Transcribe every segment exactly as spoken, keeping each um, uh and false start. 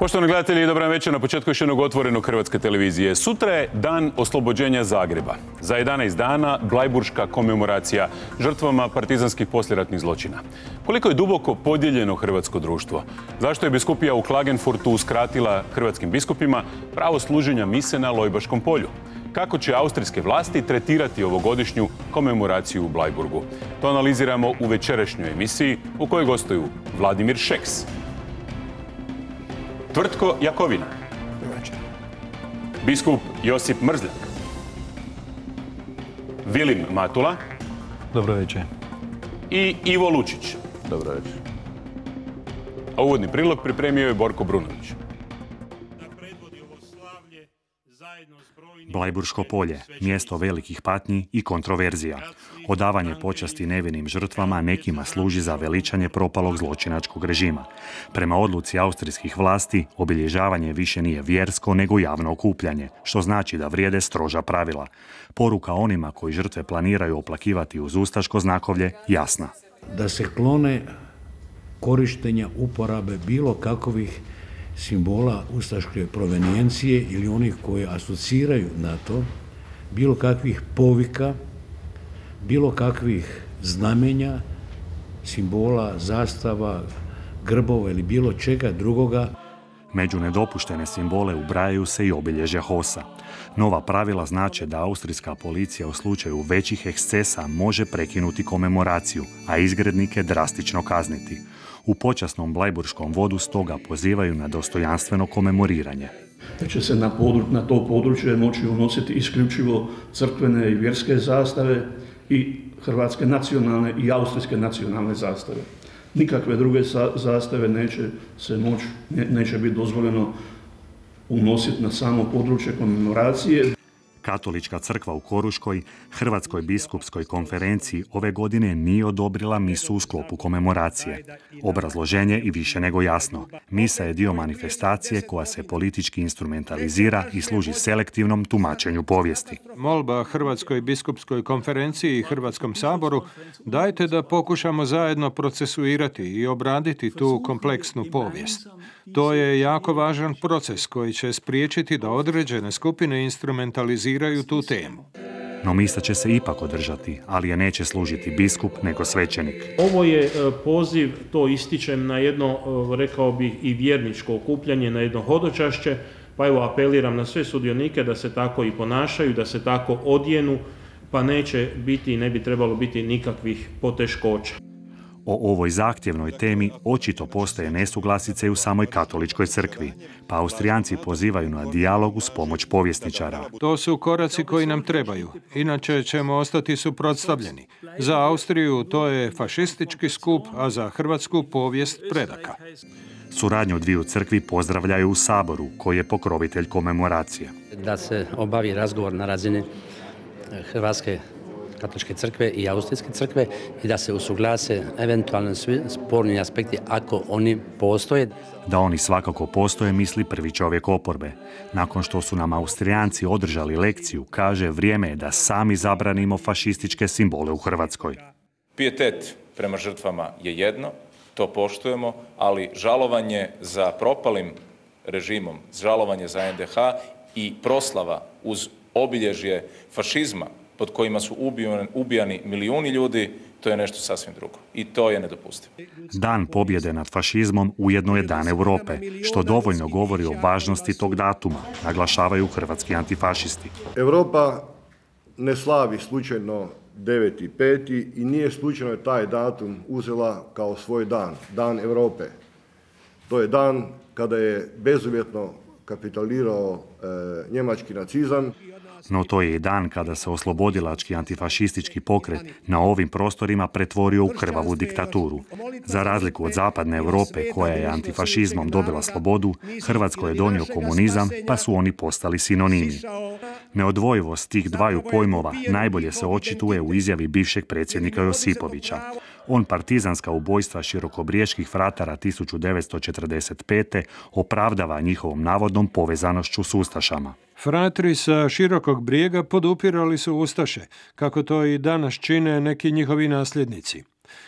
Poštovani gledatelji, dobra večer na početku još jednog otvorenog Hrvatske televizije. Sutra je dan oslobođenja Zagreba. Za jedanaest dana blajburška komemoracija žrtvama partizanskih poslijeratnih zločina. Koliko je duboko podijeljeno hrvatsko društvo? Zašto je biskupija u Klagenfurtu uskratila hrvatskim biskupima pravo služenja mise na Lojbaškom polju? Kako će austrijske vlasti tretirati ovogodišnju komemoraciju u Blajburgu? To analiziramo u večerašnjoj emisiji u kojoj gostuju Vladimir Šeks, Tvrtko Jakovina, biskup Josip Mrzljak, Vilim Matula. Dobro večer. I Ivo Lučić. Dobro večer. A uvodni prilog pripremio je Borko Brunović. Blajburško polje, mjesto velikih patnji i kontroverzija. Odavanje počasti nevinim žrtvama nekima služi za veličanje propalog zločinačkog režima. Prema odluci austrijskih vlasti, obilježavanje više nije vjersko nego javno okupljanje, što znači da vrijede stroža pravila. Poruka onima koji žrtve planiraju oplakivati uz ustaško znakovlje jasna. Da se klone korištenja uporabe bilo kakvih simbola ustaške provenijencije ili onih koji asociraju na to, bilo kakvih povika, bilo kakvih znamenja, simbola, zastava, grbova ili bilo čega drugoga. Među nedopuštene simbole ubrajaju se i obilježja H O S-a. Nova pravila znače da austrijska policija u slučaju većih ekscesa može prekinuti komemoraciju, a izgrednike drastično kazniti. U počasnom blajburškom vodu stoga pozivaju na dostojanstveno komemoriranje. Da će se na, podru, na to područje moći unositi isključivo crkvene i vjerske zastave i hrvatske nacionalne i austrijske nacionalne zastave. Nikakve druge zastave neće se moći, ne, neće biti dozvoljeno unositi na samo područje komemoracije. Katolička crkva u Koruškoj, Hrvatskoj biskupskoj konferenciji ove godine nije odobrila misu u sklopu komemoracije. Obrazloženje i više nego jasno. Misa je dio manifestacije koja se politički instrumentalizira i služi selektivnom tumačenju povijesti. Molba Hrvatskoj biskupskoj konferenciji i Hrvatskom saboru, dajte da pokušamo zajedno procesuirati i obraditi tu kompleksnu povijest. To je jako važan proces koji će spriječiti da određene skupine instrumentaliziraju tu temu. No misa će se ipak održati, ali je neće služiti biskup nego svećenik. Ovo je poziv, to ističem, na jedno, rekao bih, i vjerničko okupljanje, na jedno hodočašće, pa evo apeliram na sve sudionike da se tako i ponašaju, da se tako odjenu, pa neće biti i ne bi trebalo biti nikakvih poteškoća. O ovoj zahtjevnoj temi očito postoje nesuglasice u samoj katoličkoj crkvi, pa Austrijanci pozivaju na dijalog uz pomoć povjesničara. To su koraci koji nam trebaju, inače ćemo ostati suprotstavljeni. Za Austriju to je fašistički skup, a za Hrvatsku povijest predaka. Suradnju dviju crkvi pozdravljaju u Saboru, koji je pokrovitelj komemoracije. Da se obavi razgovor na razini Hrvatske katoličke crkve i austrijske crkve i da se usuglase eventualno svi sporni aspekti ako oni postoje. Da oni svakako postoje, misli prvi čovjek oporbe. Nakon što su nam Austrijanci održali lekciju, kaže vrijeme je da sami zabranimo fašističke simbole u Hrvatskoj. Pijetet prema žrtvama je jedno, to poštujemo, ali žalovanje za propalim režimom, žalovanje za en de ha i proslava uz obilježje fašizma pod kojima su ubijani milijuni ljudi, to je nešto sasvim drugo. I to je nedopustivo. Dan pobjede nad fašizmom ujedno je Dan Europe, što dovoljno govori o važnosti tog datuma, naglašavaju hrvatski antifašisti. Europa ne slavi slučajno deveti peti i nije slučajno taj datum uzela kao svoj dan, Dan Europe. To je dan kada je bezuvjetno kapitulirao e, njemački nacizam. No to je i dan kada se oslobodilački antifašistički pokret na ovim prostorima pretvorio u krvavu diktaturu. Za razliku od zapadne Europe koja je antifašizmom dobila slobodu, Hrvatskoj je donio komunizam pa su oni postali sinonimi. Neodvojivost tih dvaju pojmova najbolje se očituje u izjavi bivšeg predsjednika Josipovića. On partizanska ubojstva širokobrijeških fratara tisuću devetsto četrdeset pete opravdava njihovom navodnom povezanošću s ustašama. Fratri sa Širokog Brijega podupirali su ustaše, kako to i danas čine neki njihovi nasljednici.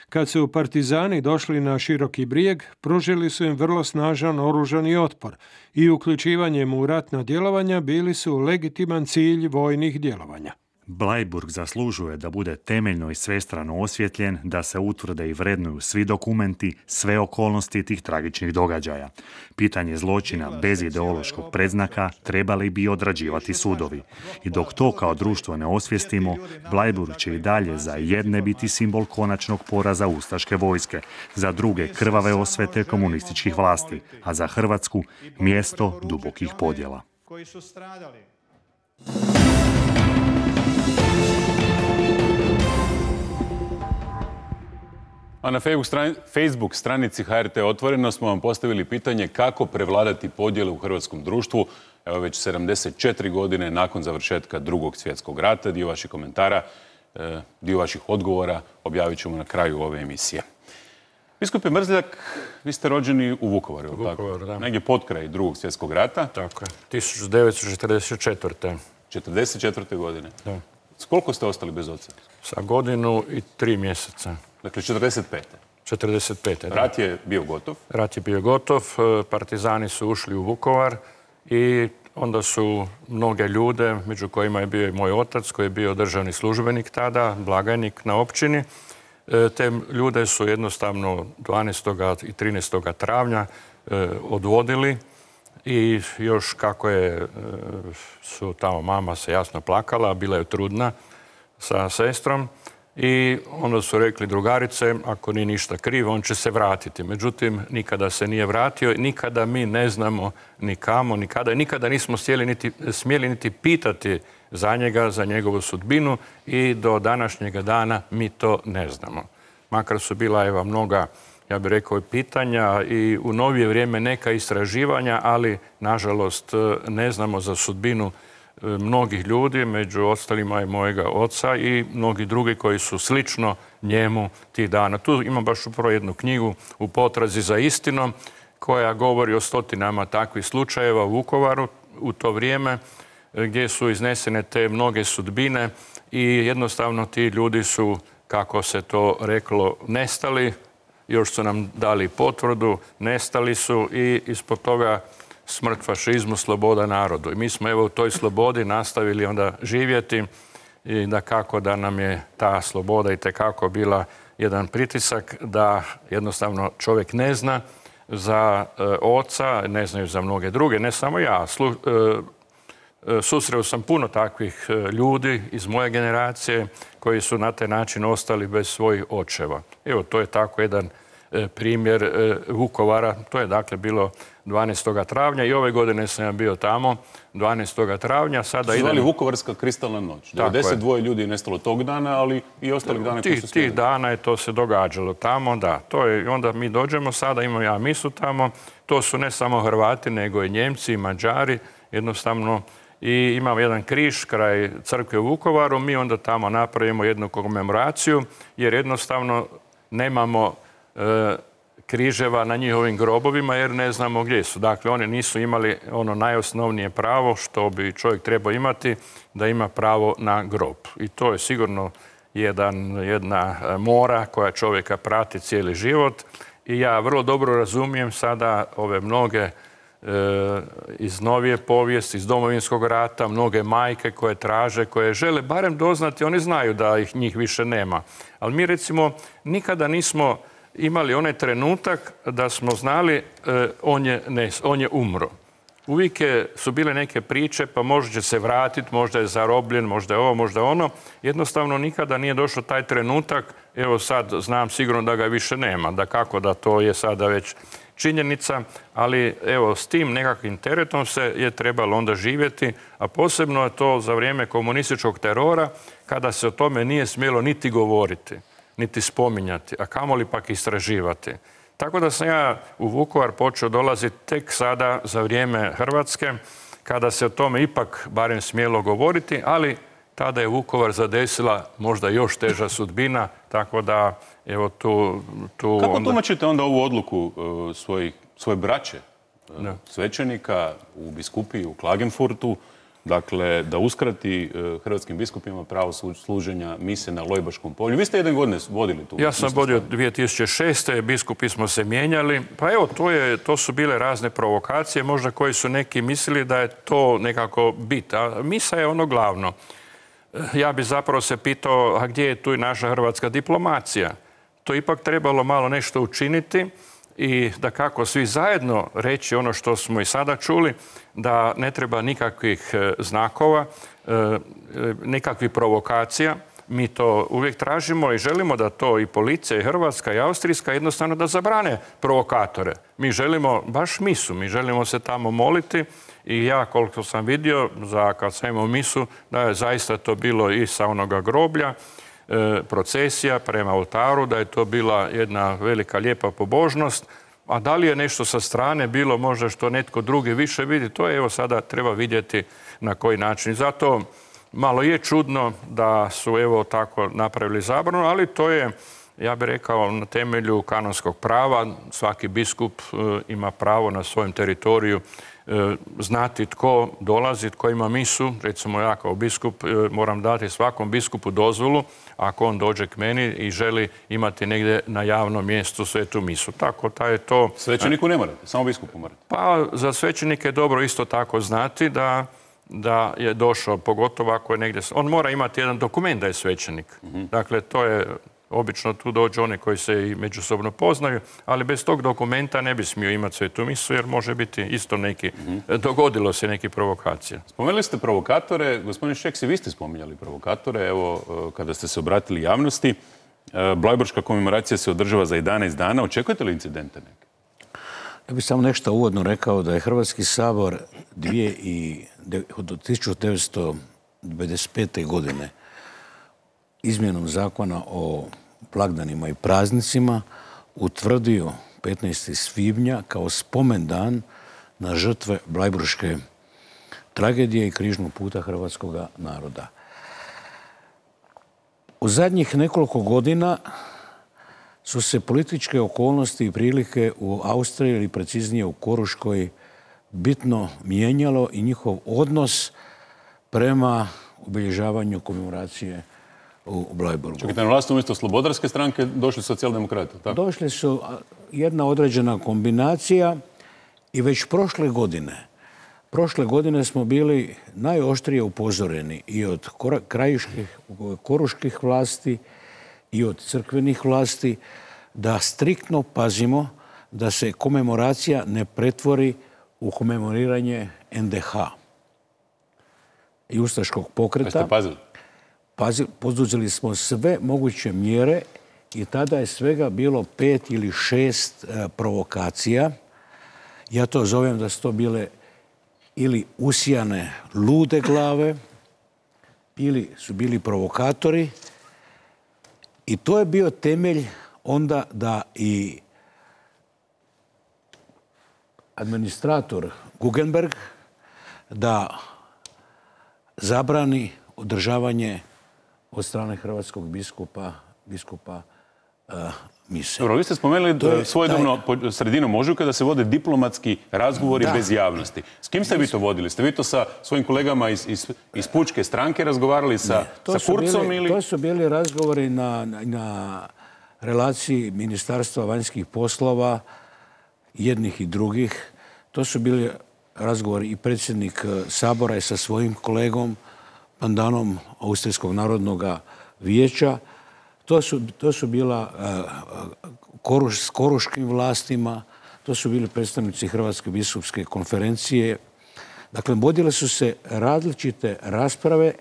Kad su partizani došli na Široki brijeg, pružili su im vrlo snažan oružani otpor i uključivanjem u ratna djelovanja bili su legitiman cilj vojnih djelovanja. Bleiburg zaslužuje da bude temeljno i svestrano osvjetljen, da se utvrde i vrednuju svi dokumenti, sve okolnosti tih tragičnih događaja. Pitanje zločina bez ideološkog predznaka trebali bi odrađivati sudovi. I dok to kao društvo ne osvijestimo, Bleiburg će i dalje za jedne biti simbol konačnog poraza ustaške vojske, za druge krvave osvete komunističkih vlasti, a za Hrvatsku mjesto dubokih podjela. A na Facebook stranici H R T Otvoreno smo vam postavili pitanje kako prevladati podjele u hrvatskom društvu. Evo već sedamdeset četiri godine nakon završetka Drugog svjetskog rata. Dio vaših komentara, dio vaših odgovora objavit ćemo na kraju ove emisije. Biskupe Mrzljak, vi ste rođeni u Vukovaru, Vukovaru, da. Negdje potkraj Drugog svjetskog rata. Tako je, tisuću devetsto četrdeset četvrte. četrdeset četvrte godine. Da. S koliko ste ostali bez oca? Sa godinu i tri mjeseca. Dakle, četrdeset pete. četrdeset pete, da. Rat je bio gotov? Rat je bio gotov, partizani su ušli u Vukovar i onda su mnoge ljude, među kojima je bio i moj otac, koji je bio državni službenik tada, blagajnik na općini. Te ljude su jednostavno dvanaestog i trinaestog travnja odvodili i još kako je, su tamo mama se jasno plakala, bila je trudna sa sestrom i onda su rekli drugarice, ako nije ništa krivo, on će se vratiti. Međutim, nikada se nije vratio i nikada mi ne znamo ni kamo, nikada, nikada nismo niti, smjeli niti pitati za njega, za njegovu sudbinu i do današnjega dana mi to ne znamo. Makar su bila evo mnoga, ja bih rekao, pitanja i u novije vrijeme neka istraživanja, ali nažalost ne znamo za sudbinu mnogih ljudi, među ostalima i mojega oca i mnogi drugi koji su slično njemu tih dana. Tu imam baš upravo jednu knjigu U potrazi za istinom koja govori o stotinama takvih slučajeva u Vukovaru u to vrijeme gdje su iznesene te mnoge sudbine i jednostavno ti ljudi su, kako se to reklo, nestali. Još su nam dali potvrdu, nestali su i ispod toga smrt fašizmu, sloboda narodu. I mi smo evo u toj slobodi nastavili onda živjeti i da kako da nam je ta sloboda itekako bila jedan pritisak da jednostavno čovjek ne zna za e, oca, ne znaju za mnoge druge, ne samo ja. Slu, e, susreo sam puno takvih ljudi iz moje generacije koji su na taj način ostali bez svojih očeva. Evo, to je tako jedan primjer Vukovara. To je dakle bilo dvanaestog travnja i ove godine sam ja bio tamo dvanaestog travnja. Sada su zvali idem... Vukovarska kristalna noć. devedeset dva ljudi je nestalo tog dana, ali i ostalih dana koji su Tih, tih dana je to se događalo tamo, da. To je, onda mi dođemo sada, imam ja misu tamo. To su ne samo Hrvati, nego i Njemci i Mađari. Jednostavno i imamo jedan križ kraj crkve u Vukovaru. Mi onda tamo napravimo jednu komemoraciju jer jednostavno nemamo e, križeva na njihovim grobovima jer ne znamo gdje su. Dakle, oni nisu imali ono najosnovnije pravo što bi čovjek trebao imati, da ima pravo na grob. I to je sigurno jedan, jedna mora koja čovjeka prati cijeli život. I ja vrlo dobro razumijem sada ove mnoge iz novije povijesti, iz Domovinskog rata, mnoge majke koje traže, koje žele barem doznati, oni znaju da ih njih više nema. Ali mi recimo nikada nismo imali onaj trenutak da smo znali on je, ne, on je umro. Uvijek su bile neke priče, pa možda će se vratiti, možda je zarobljen, možda je ovo, možda ono. Jednostavno nikada nije došao taj trenutak, evo sad znam sigurno da ga više nema, da kako da to je sada već činjenica, ali evo s tim nekakvim teretom se je trebalo onda živjeti, a posebno je to za vrijeme komunističkog terora kada se o tome nije smjelo niti govoriti, niti spominjati, a kamoli pak istraživati. Tako da sam ja u Vukovar počeo dolaziti tek sada za vrijeme Hrvatske, kada se o tome ipak barem smjelo govoriti, ali tada je Vukovar zadesila možda još teža sudbina, tako da evo tu... tu Kako onda... tumačite onda ovu odluku uh, svojih, svoje braće, uh, svećenika u biskupiji u Klagenfurtu, dakle, da uskrati hrvatskim biskupima pravo služenja mise na Lojbaškom polju. Vi ste jedan godine vodili tu. Ja sam vodio dvije tisuće šeste. Biskupi smo se mijenjali. Pa evo, to, je, to su bile razne provokacije, možda koji su neki mislili da je to nekako bit. A misa je ono glavno. Ja bi zapravo se pitao, a gdje je tu i naša hrvatska diplomacija? To ipak trebalo malo nešto učiniti i da kako svi zajedno reći ono što smo i sada čuli, da ne treba nikakvih znakova, nikakvih provokacija. Mi to uvijek tražimo i želimo da to i policija, i hrvatska, i austrijska jednostavno da zabrane provokatore. Mi želimo baš misu, mi želimo se tamo moliti i ja koliko sam vidio, za kad sam imao misu, da je zaista to bilo i sa onoga groblja, procesija prema oltaru, da je to bila jedna velika lijepa pobožnost. A da li je nešto sa strane bilo možda što netko drugi više vidi, to je evo sada treba vidjeti na koji način. Zato malo je čudno da su evo tako napravili zabranu, ali to je, ja bih rekao, na temelju kanonskog prava. Svaki biskup ima pravo na svojem teritoriju znati tko dolazi, tko ima misu. Recimo ja kao biskup moram dati svakom biskupu dozvolu ako on dođe k meni i želi imati negdje na javnom mjestu svetu misu. Tako da je to... Svećeniku ne morate, samo biskupu morate. Pa za svećenike je dobro isto tako znati da, da je došao, pogotovo ako je negdje... On mora imati jedan dokument da je svećenik. Mm-hmm. Dakle, to je... Obično tu dođu oni koji se i međusobno poznaju, ali bez tog dokumenta ne bi smio imati svetu misu jer može biti isto neki, mm-hmm. dogodilo se neki provokacija. Spomenuli ste provokatore. Gospodin Šeks, i vi ste spominjali provokatore. Evo, kada ste se obratili javnosti, Blajburška komemoracija se održava za jedanaest dana. Očekujete li incidente neke? Ja bih samo nešto uvodno rekao da je Hrvatski sabor od tisuću devetsto devedeset pete. godine izmjenom zakona o blagdanima i praznicima utvrdio petnaestog svibnja kao spomendan na žrtve Blajburške tragedije i križnog puta hrvatskog naroda. U zadnjih nekoliko godina su se političke okolnosti i prilike u Austriji ili preciznije u Koruškoj bitno mijenjalo i njihov odnos prema obilježavanju komemoracije u Blajburgu. Čekajte, na vlast umjesto Slobodarske stranke došli socijaldemokrati, tako? Došli su jedna određena kombinacija i već prošle godine, prošle godine smo bili najoštrije upozoreni i od krajiških, koruških vlasti i od crkvenih vlasti da striktno pazimo da se komemoracija ne pretvori u komemoriranje en de ha i ustaškog pokreta. Jeste pazili? Poduzeli smo sve moguće mjere i tada je svega bilo pet ili šest provokacija. Ja to zovem da su to bile ili usijane lude glave ili su bili provokatori i to je bio temelj onda da i administrator Guggenberg da zabrani održavanje od strane hrvatskog biskupa, biskupa uh, mise. Dobro, vi ste spomenuli da svojedobno taj... sredinom ožujka da se vode diplomatski razgovori da. bez javnosti. S kim ste vi to vodili? Ste vi to sa svojim kolegama iz, iz, iz Pučke stranke razgovarali sa, sa Kurcom? Bili, ili... To su bili razgovori na, na, na relaciji Ministarstva vanjskih poslova, jednih i drugih. To su bili razgovori i predsjednik Sabora je sa svojim kolegom, pandanom Austrijskog narodnog vijeća. To su, to su bila uh, koruš, s koruškim vlastima, to su bili predstavnici Hrvatske biskupske konferencije. Dakle, vodile su se različite rasprave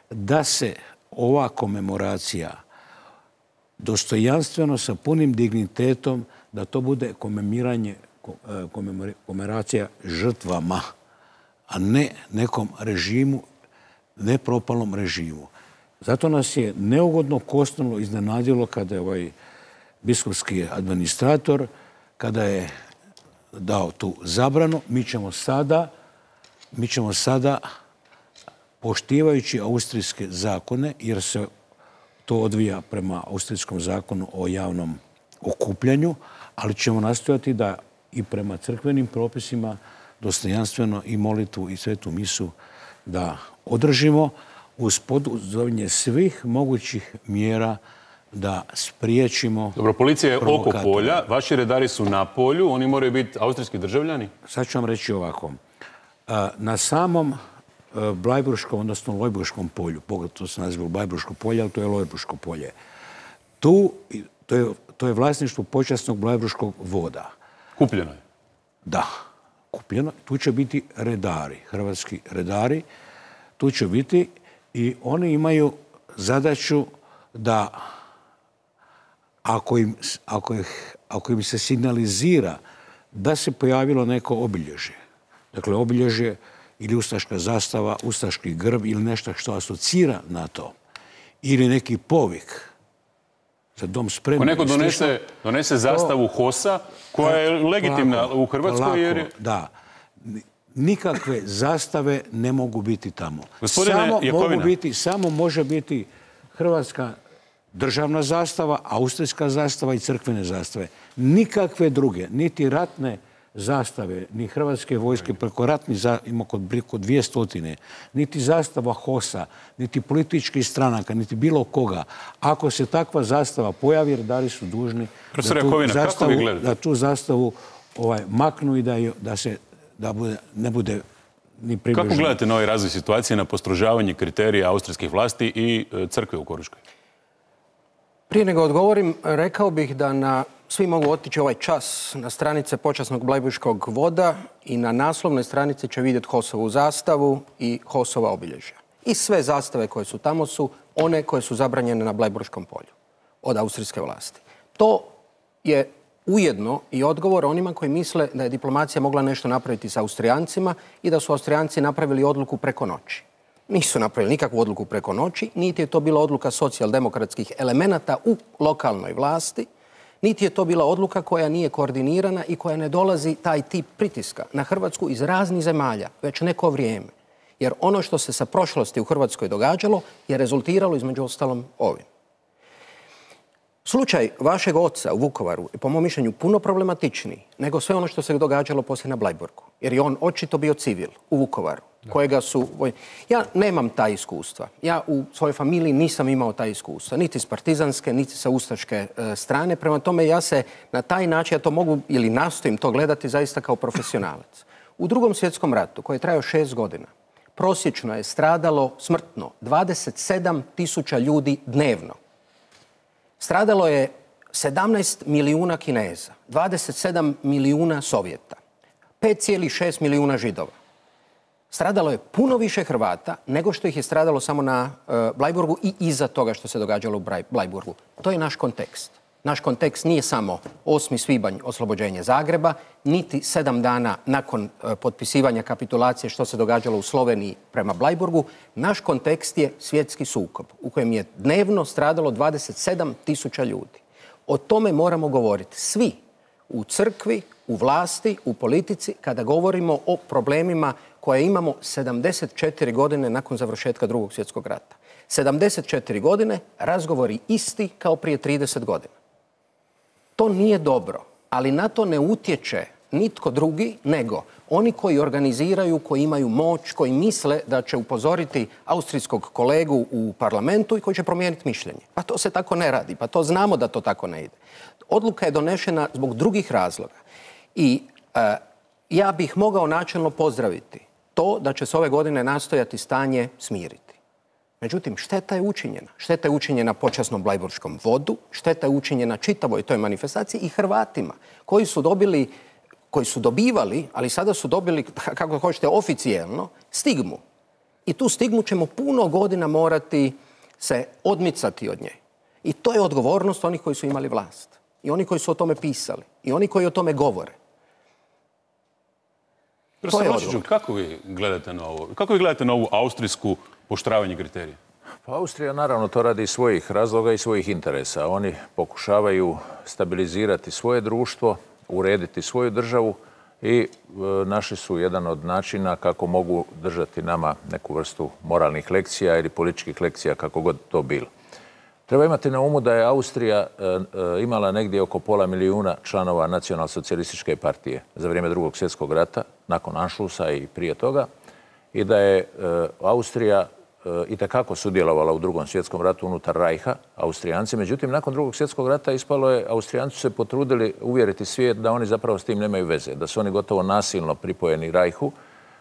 da se ova komemoracija dostojanstveno sa punim dignitetom, da to bude komemiranje, komemoracija žrtvama, a ne nekom režimu, ne propalom režimu. Zato nas je neugodno kosnulo iznenadilo kada je ovaj biskupski administrator, kada je dao tu zabranu, mi ćemo sada, mi ćemo sada poštivajući austrijske zakone, jer se to odvija prema austrijskom zakonu o javnom okupljanju, ali ćemo nastojati da i prema crkvenim propisima dostojanstveno i molitvu i svetu misu da održimo uz poduzimanje svih mogućih mjera da spriječimo... Dobro, policija je oko provokatora. polja, vaši redari su na polju, oni moraju biti austrijski državljani? Sad ću vam reći ovako. Na samom Blajburškom, odnosno Lojburškom polju, pogotovo se naziva Blajburško polje, ali to je Lojburško polje. Tu, to je, to je vlasništvo počasnog Blajburškog voda. Kupljeno je? Da, kupljeno. Tu će biti redari, hrvatski redari. Tu će biti i oni imaju zadaću da ako im, ako ih, ako im se signalizira da se pojavilo neko obilježje, dakle obilježje ili ustaška zastava, ustaški grb ili nešto što asocira na to, ili neki povik za dom spremni. Ako neko donese, donese zastavu H O S-a, koja je legitimna u Hrvatskoj, jer je... Da. Nikakve zastave ne mogu biti tamo. Gospodine samo, Jakovina. mogu biti, samo može biti hrvatska državna zastava, austrijska zastava i crkvene zastave. Nikakve druge, niti ratne zastave, ni hrvatske vojske, preko ratnih ima kod dvije stotine, niti zastava H O S-a, niti političkih stranaka, niti bilo koga. Ako se takva zastava pojavi, redari su dužni da tu, Jakovina, zastavu, kako vi da tu zastavu ovaj, maknu i da, da se da bude, ne bude ni približno. Kako gledate na ovaj razvoj situacije, na postrožavanje kriterija austrijskih vlasti i crkve u Koruškoj? Prije nego odgovorim, rekao bih da na, svi mogu otići ovaj čas na stranice počasnog Blajburškog voda i na naslovnoj stranici će vidjeti H O S-ovu zastavu i H O S-ova obilježja. I sve zastave koje su tamo su one koje su zabranjene na Blajburškom polju od austrijske vlasti. To je ujedno i odgovor onima koji misle da je diplomacija mogla nešto napraviti s Austrijancima i da su Austrijanci napravili odluku preko noći. Nisu napravili nikakvu odluku preko noći, niti je to bila odluka socijaldemokratskih elemenata u lokalnoj vlasti, niti je to bila odluka koja nije koordinirana i koja ne dolazi taj tip pritiska na Hrvatsku iz raznih zemalja već neko vrijeme. Jer ono što se sa prošlosti u Hrvatskoj događalo je rezultiralo između ostalom ovim. Slučaj vašeg oca u Vukovaru je po mom mišljenju puno problematičniji nego sve ono što se događalo poslije na Blajburgu. Jer je on očito bio civil u Vukovaru, kojega su... Ja nemam ta iskustva. Ja u svojoj familiji nisam imao ta iskustva. Niti s partizanske, niti sa ustaške e, strane. Prema tome ja se na taj način, ja to mogu ili nastojim to gledati zaista kao profesionalac. U Drugom svjetskom ratu, koji je trajao šest godina, prosječno je stradalo smrtno dvadeset sedam tisuća ljudi dnevno. Stradalo je sedamnaest milijuna Kineza, dvadeset sedam milijuna Sovjeta, pet zarez šest milijuna Židova. Stradalo je puno više Hrvata nego što ih je stradalo samo na uh, Blajburgu i iza toga što se događalo u Blajburgu. To je naš kontekst. Naš kontekst nije samo osmi svibanj oslobođenje Zagreba, niti sedam dana nakon uh, potpisivanja kapitulacije što se događalo u Sloveniji prema Blajburgu. Naš kontekst je svjetski sukob u kojem je dnevno stradalo dvadeset sedam tisuća ljudi. O tome moramo govoriti svi u crkvi, u vlasti, u politici, kada govorimo o problemima koje imamo sedamdeset četiri godine nakon završetka Drugog svjetskog rata. sedamdeset četiri godine, razgovori isti kao prije trideset godina. To nije dobro, ali na to ne utječe nitko drugi nego oni koji organiziraju, koji imaju moć, koji misle da će upozoriti austrijskog kolegu u parlamentu i koji će promijeniti mišljenje. Pa to se tako ne radi, pa to znamo da to tako ne ide. Odluka je donešena zbog drugih razloga. I e, ja bih mogao načelno pozdraviti to da će se ove godine nastojati stanje smiriti. Međutim, šteta je učinjena. Šteta je učinjena počasnom Blajburškom vodu, šteta je učinjena čitavoj toj manifestaciji i Hrvatima koji su dobili, koji su dobivali, ali sada su dobili, kako hoćete, oficijelno, stigmu. I tu stigmu ćemo puno godina morati se odmicati od nje. I to je odgovornost onih koji su imali vlast. I oni koji su o tome pisali. I oni koji o tome govore. To je odgovor. Kako vi gledate na ovo? Kako vi gledate na ovu austrijsku poštravanje kriterija? Pa Austrija naravno to radi iz svojih razloga i svojih interesa. Oni pokušavaju stabilizirati svoje društvo, urediti svoju državu i e, našli su jedan od načina kako mogu držati nama neku vrstu moralnih lekcija ili političkih lekcija, kako god to bilo. Treba imati na umu da je Austrija e, e, imala negdje oko pola milijuna članova nacionalsocijalističke partije za vrijeme Drugog svjetskog rata, nakon Anšlusa i prije toga. i da je Austrija itekako sudjelovala u drugom svjetskom ratu unutar Rajha, Austrijanci. Međutim, nakon drugog svjetskog rata ispalo je, Austrijanci su se potrudili uvjeriti svijet da oni zapravo s tim nemaju veze, da su oni gotovo nasilno pripojeni Rajhu,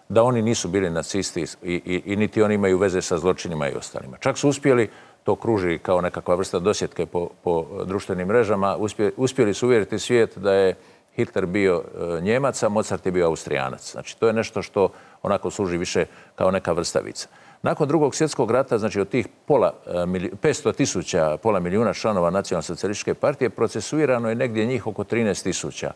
da oni nisu bili nacisti i, i, i niti oni imaju veze sa zločinima i ostalima. Čak su uspjeli, to kruži kao nekakva vrsta dosjetke po, po društvenim mrežama, uspjeli, uspjeli su uvjeriti svijet da je Hitler bio e, Njemac, a Mozart je bio Austrijanac. Znači, to je nešto što onako služi više kao neka vrstavica. Nakon drugog svjetskog rata, znači od tih pola, petsto tisuća, pola milijuna članova Nacionalno-socijalističke partije, procesuirano je negdje njih oko trinaest tisuća.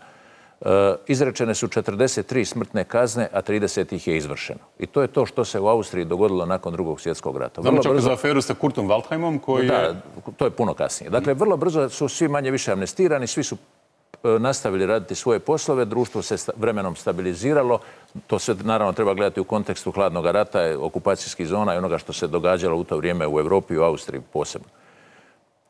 E, izrečene su četrdeset tri smrtne kazne, a trideset ih je izvršeno. I to je to što se u Austriji dogodilo nakon drugog svjetskog rata. Znamo čak za aferu sa Kurtom Waldheimom koji da, je... to je puno kasnije. Dakle, vrlo brzo su svi manje više amnestirani, svi su nastavili raditi svoje poslove, društvo se vremenom stabiliziralo. To se naravno treba gledati u kontekstu hladnog rata, okupacijskih zona i onoga što se događalo u to vrijeme u Europi i u Austriji posebno.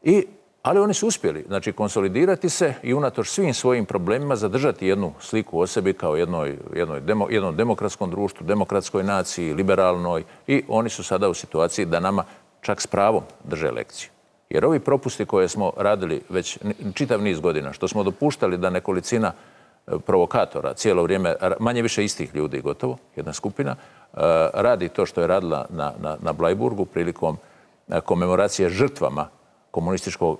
I, ali oni su uspjeli, znači, konsolidirati se i unatoč svim svojim problemima zadržati jednu sliku o sebi kao jednoj, jednoj demo, jednom demokratskom društvu, demokratskoj naciji, liberalnoj, i oni su sada u situaciji da nama čak s pravom drže lekciju. Jer ovi propusti koje smo radili već čitav niz godina, što smo dopuštali da nekolicina provokatora cijelo vrijeme, manje više istih ljudi gotovo, jedna skupina, radi to što je radila na, na, na Blajburgu prilikom komemoracije žrtvama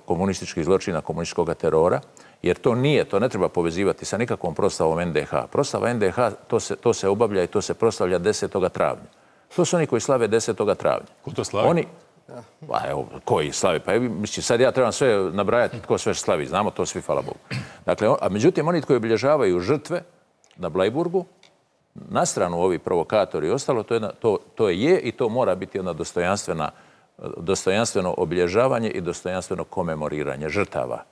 komunističkih zločina, komunističkog terora, jer to nije, to ne treba povezivati sa nikakvom proslavom en de ha. Proslava en de ha, to se, to se obavlja i to se proslavlja desetoga travnja. To su oni koji slave desetoga travnja. Ko to slavi? Oni, a evo, koji slavi? Pa mislim, sad ja trebam sve nabrajati tko sve slavi. Znamo to svi, hvala Bogu. Dakle, a međutim, oni koji obilježavaju žrtve na Blajburgu, na stranu ovi provokatori i ostalo, to je, to, to je i to mora biti jedna dostojanstvena, dostojanstveno obilježavanje i dostojanstveno komemoriranje žrtava.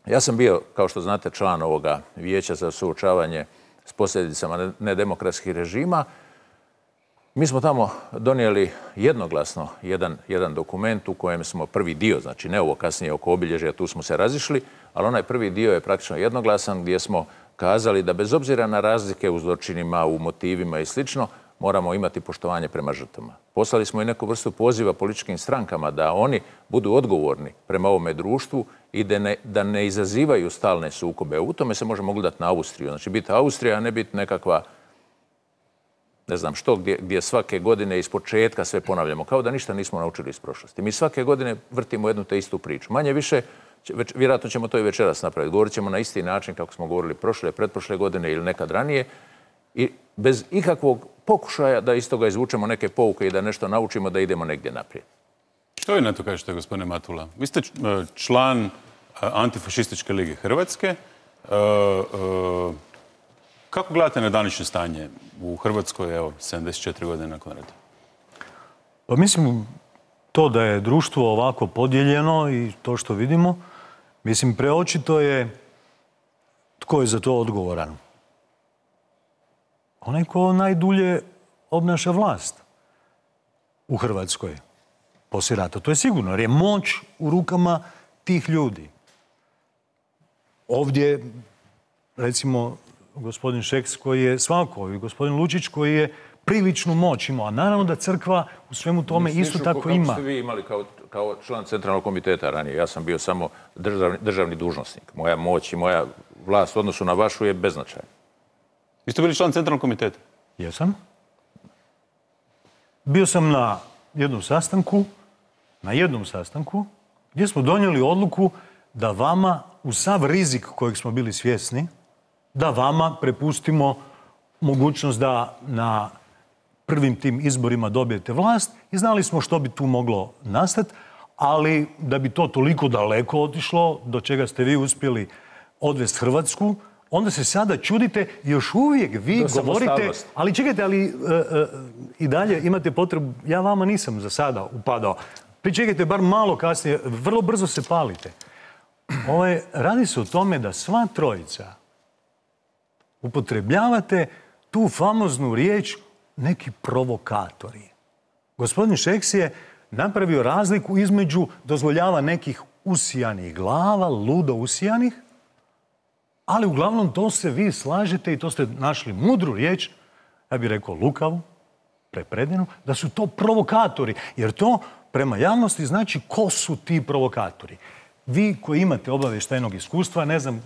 Ja sam bio, kao što znate, član ovoga vijeća za suočavanje s posljedicama nedemokratskih režima. Mi smo tamo donijeli jednoglasno jedan, jedan dokument u kojem smo prvi dio, znači ne ovo kasnije oko obilježja, tu smo se razišli, ali onaj prvi dio je praktično jednoglasan gdje smo kazali da bez obzira na razlike u zločinima, u motivima i slično, moramo imati poštovanje prema žrtvama. Poslali smo i neku vrstu poziva političkim strankama da oni budu odgovorni prema ovome društvu i da ne, da ne izazivaju stalne sukobe. U tome se možemo gledati na Austriju. Znači biti Austrija, a ne biti nekakva ne znam što, gdje, gdje svake godine iz početka sve ponavljamo, kao da ništa nismo naučili iz prošlosti. Mi svake godine vrtimo jednu te istu priču. Manje više, već, vjerojatno ćemo to i večeras napraviti. Govorit ćemo na isti način kako smo govorili prošle, pretprošle godine ili nekad ranije i bez ikakvog pokušaja da iz toga izvučemo neke pouke i da nešto naučimo da idemo negdje naprijed. Što vi na to kažete, gospodine Matula? Vi ste član Antifašističke lige Hrvatske. Kako gledate na današnje stanje u Hrvatskoj, evo, sedamdeset četiri godine nakon rata? Pa mislim, to da je društvo ovako podijeljeno i to što vidimo, mislim, preočito je tko je za to odgovoran. Onaj ko najdulje obnaša vlast u Hrvatskoj poslije rata. To je sigurno, jer je moć u rukama tih ljudi. Ovdje, recimo, gospodin Šeks koji je svakako i gospodin Lučić koji je priličnu moć imao. A naravno da crkva u svemu tome isto tako ima. Kako ste vi imali kao, kao član centralnog komiteta ranije? Ja sam bio samo državni, državni dužnosnik. Moja moć i moja vlast u odnosu na vašu je beznačajna. Vi ste bili član centralnog komiteta? Jesam. Bio sam na jednom sastanku, na jednom sastanku, gdje smo donijeli odluku da vama, u sav rizik kojeg smo bili svjesni, da vama prepustimo mogućnost da na prvim tim izborima dobijete vlast i znali smo što bi tu moglo nastati, ali da bi to toliko daleko otišlo, do čega ste vi uspjeli odvesti Hrvatsku, onda se sada čudite i još uvijek vi govorite, ali čekajte, ali uh, uh, i dalje imate potrebu, ja vama nisam za sada upadao, pričekajte bar malo kasnije, vrlo brzo se palite. Ovo je, radi se o tome da sva trojica upotrebljavate tu famoznu riječ neki provokatori. Gospodin Šeks je napravio razliku između dozvoljava nekih usijanih glava, ludo usijanih, ali uglavnom to se vi slažete i to ste našli mudru riječ, ja bih rekao lukavu, prepredenu, da su to provokatori. Jer to prema javnosti znači ko su ti provokatori. Vi koji imate obavještajnog iskustva, ne znam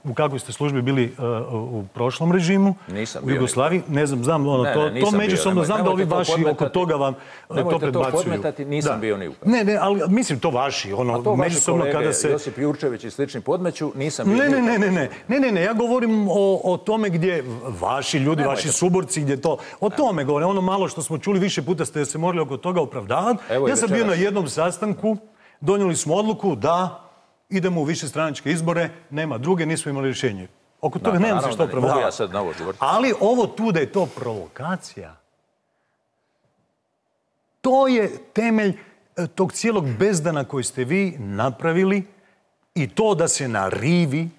u kakvoj ste službi bili uh, u prošlom režimu, nisam u Jugoslaviji, ne znam, znam ono, ne, to, ne, to međusobno, znam da ovi to vaši oko toga vam uh, to predbacuju. Nemojte to podmetati, nisam da. bio ni u Ne, ne, ali mislim to vaši, ono, a to međusobno vaši kolege, kada se... Josip Jurčević i slični podmeću, nisam bio ne, ni ne, ne, ne, ne, ne, ne, ne, ja govorim o, o tome gdje vaši ljudi, Nemojte. vaši suborci, gdje to, o tome govorim, ono malo što smo čuli više puta ste se morali oko toga opravdavati. Evo Ja i sam bio večeras. na jednom sastanku, donijeli smo odluku da idemo u višestranačke izbore, nema druge, nismo imali rješenje. Oko toga Da, nemam se naravno što da ne mogu opravdavati. ja sad na ovo govoriti. Ali ovo tu da je to provokacija, to je temelj e, tog cijelog bezdana koji ste vi napravili i to da se na rivi